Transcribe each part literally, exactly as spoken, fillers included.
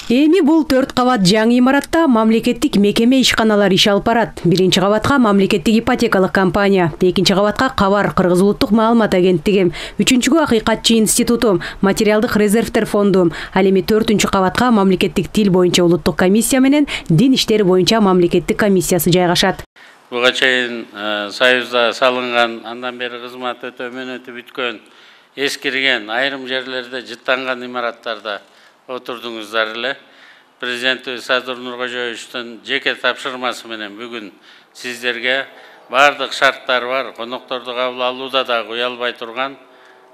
Эми бул төрт кабат жаңы имаратта мамлекеттик мекеме ишканалар иш алып барат. Биринчи кабатка мамлекеттик ипотекалык компания, экинчи кабатка Кабар Кыргыз улуттук маалымат агенттиги, үчүнчүгө Акыйкатчы институту, материалдык резервтер фонду, ал эми төртүнчү кабатка мамлекеттик тил боюнча улуттук комиссия менен дин иштери боюнча мамлекеттик комиссиясы жайгашат. Буга чейин Союзда салынган, андан бери кызмат өтө мөөнөтү бүткөн, эскирген, айрым жерлерде жыттанган имараттарда отурдуңуздар эле. Президентибиз Садыр Нуркожоевичтин жеке тапшырмасы менен бүгүн сиздерге бардык шарттары бар, конокторду кабыл алууда да уялбай турган,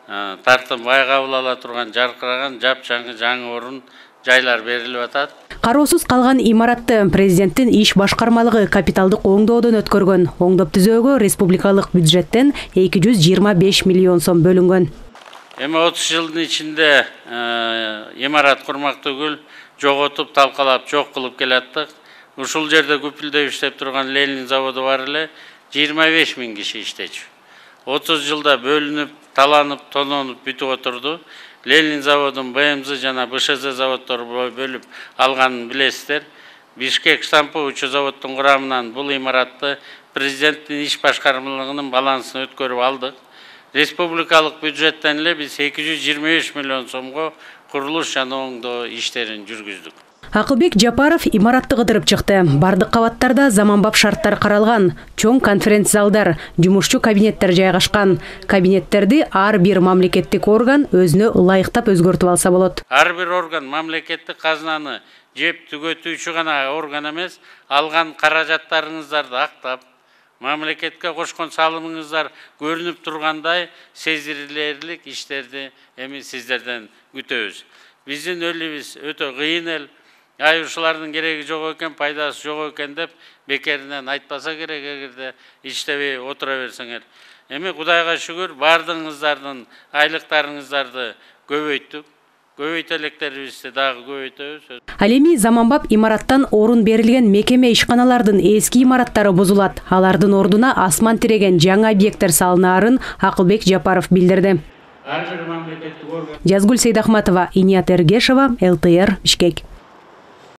тартынбай кабыл ала турган жаркыраган жапжаңы жаңы орун жайлар берилип атат. Кароосуз калган имаратты президенттин иш башкармалыгы капиталдык оңдоодон өткөргөн. Оңдоп түзөөгө республикалык бюджеттен эки жүз жыйырма беш миллион сом бөлүнгөн. Эми отуз жылдын ичинде имарат курмак түгүл, жоготуп, талкалап, жок кылып келаттык. Ушул жерде күпүлдөп иштеп турган Ленин заводу бар эле, жыйырма беш миң киши иштечү. отуз жылда бөлүнүп, таланып, тононуп бүтүп отурду. Ленин заводун Б М З жана Б Ш З заводдору бөлүп алганын билесиздер. Бишкек штамповый заводдун курамынан бул имаратты президенттин иш башкармалыгынын балансына өткөрүп алдык. Республикалык бюджеттен эле биз эки жүз жыйырма беш миллион сомго курулуш жана оңдоо иштерин жүргүздүк. Акылбек Жапаров имаратты кыдырып чыкты. Бардык кабаттарда заманбап шарттар каралган, чоң конференц залдар, жумушчу кабинеттер жайгашкан. Кабинеттерди ар бир мамлекеттик орган өзүнө ылайыктап өзгөртүп алса болот. Ар бир орган мамлекеттик казынаны жеп түгөтүүчү гана орган эмес, алган каражаттарыңыздарды актап, мамлекетке кошкон салымыңыздар көрүнүп тургандай сезилерлик иштерди эми сиздерден күтөбүз. Биздин элибиз өтө кыйын эл. Ай ушулардын кереги жок экен, пайдасы жок экен деп бекеринен айтпаса керек, эгерде иштебей отура берсеңер. Эми Кудайга шүгүр, бардыгыңыздардын айлыктарыңыздарды көбөйттүк. Көбөйтө электерибизди дагы көбөйтөбүз. Ал эми заманбап имараттан орун берилген мекеме ишканалардын эски имараттары бузулат. Алардын ордуна асман тиреген жаңы объекттер салынаарын Акылбек Жапаров билдирди. Жазгүл Сейдахматова, Иният Эргешова, Л Т Р, Бишкек.